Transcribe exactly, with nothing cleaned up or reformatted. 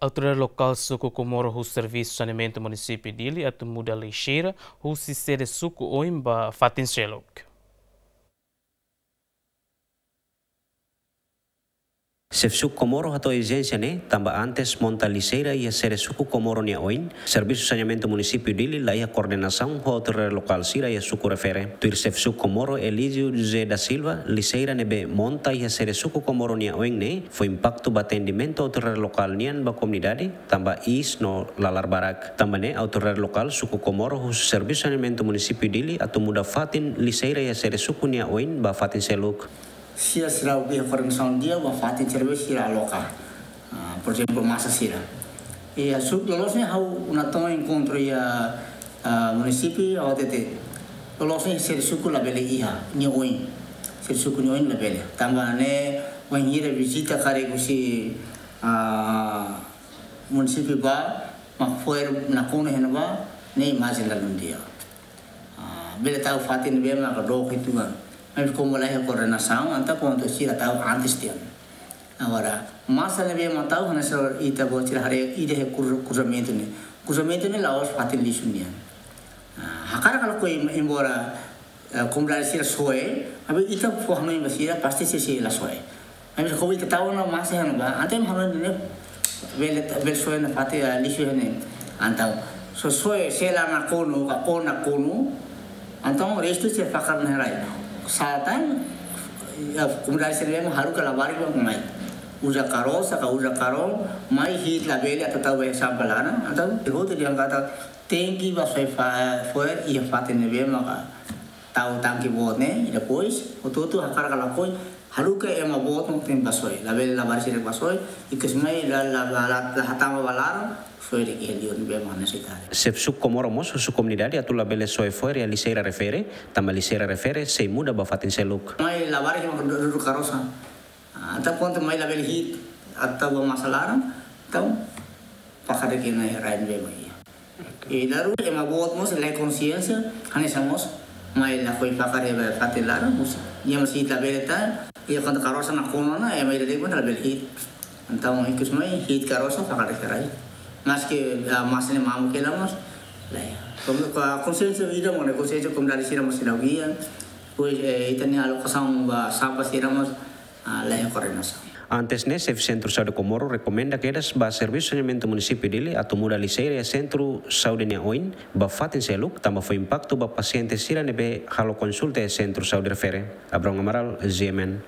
Autoridade lokál suku Comoro husu servisu saneamentu munisípiu Dili atu muda lixeira husi sede suku oin ba fatin seluk. Xefe suku Comoro hato'o ezijénsia ne'e, tanba antes monta lixeira iha sede suku Comoro nia oin, servisu saneamentu munisípiu Dili la iha koordenasaun ho autoridade lokál sira iha suku refere. Tuir xefe suku Comoro Elísio José da Silva, lixeira ne'ebé monta iha sede suku Comoro nia oin ne'e fó impaktu ba atendimentu autoridade lokál nian ba komunidade, tanba iis no lalar barak. Tanba ne'e autoridade lokál suku Comoro husu servisu saneamentu munisípiu Dili atu muda fatin lixeira iha sede suku nia oin ba fatin seluk. Sira, sira iha koordenasaun di'ak ba fatin servisu sira aloka. Ah, por ezemplu, masa sira. Iha suku loloos ne'e ha'u natoon enkontru iha, ah, munisípiu, ha'u hatete. Loloos ne'e sede suku labele iha, nia oin. Sede suku nia oin labele. Tanba ne'e, wainhira vizita karik husi, ah, munisípiu bá, mak fo'er nakonu iha ne'ebá, ne'e imajen la dún di'ak. Ah, bele tau fatin ne'ebé maka dook uitoan. Mas komu la iha koordenasaun, entaun pontu sira tau antes tiha ona. Agora, masa ne'ebé mak tau, hanesan ita-boot sira haree ida iha kru-, kruzamentu ne'e. Kruzamentu ne'e la'ós fatin lixu nian. Ah, hakarak ka lakohi, embora, eh, komunidade sira soe, maibé ita fó hanoin ba sira, pasti sira sei la soe. Maibé komu ita tau ona masa iha ne'ebá, entaun hanoin ne'e bele, bele soe ona fatin, ah, lixu iha ne'e. Entaun, se soe, se la nakonu, ka o nakonu, entaun restu sei fakar iha rai. Sá tan, eh, komunidade sira ne'ebé haruka labarik ba mai. Uza karosa, ka uza karón, mai hi'it labele atu tau ba sampah laran, entaun, hotu dehan katak, tenke ba soe fo-, fo'er iha fatin ne'ebé maka tau tanke boot ne'e, i depois, hotu-hotu hakarak ka lakohi, haruka ema boot mak tenke ba soe, labele labarik sira ba soe, ikus mai la, la, la, la, la hatama ba laran, soe de'it iha liur ne'ebé mak nesesáriu. Xefe suku Comoro mós husu komunidade atu labele soe fo'er iha lixeira refere, tanba lixeira refere sei muda ba fatin seluk. Mai labarik mak du-, dudu karosa. Ah, entaun pontu mai labele hi'it atu tau ba masa laran, entaun fakar de'it iha rai ne'ebé mak iha. I daruak ema boot mós la iha konxiénsia, hanesan mós, mai lakohi fakar iha fatin laran, mós. Nia mós hi'it labele tan, iha kuandu karosa nakonu ona, ema ida de'it mós labele hi'it. Entaun, ikus mai, hi'it karosa, fakar de'it iha rai. Maski, ah, masa ne'e mamuk hela mós, la iha. Kon-, ko-, konxiénsia ida mós ne'e, konxiénsia komunidade sira mós seidauk iha. Depois, eh, ita-nia alokasaun ba sampah sira mós, ah, la iha koordenasaun. Antes ne'e, xefe Sentru Saúde Comoro rekomenda kedas ba servisu saneamentu munisípiu Dili atu muda lixeira iha Sentru Saúde nia oin ba fatin seluk, tanba fó impaktu ba pasiente sira ne'ebé halo konsulta iha Sentru Saúde refere. Abrão Amaral, G M N.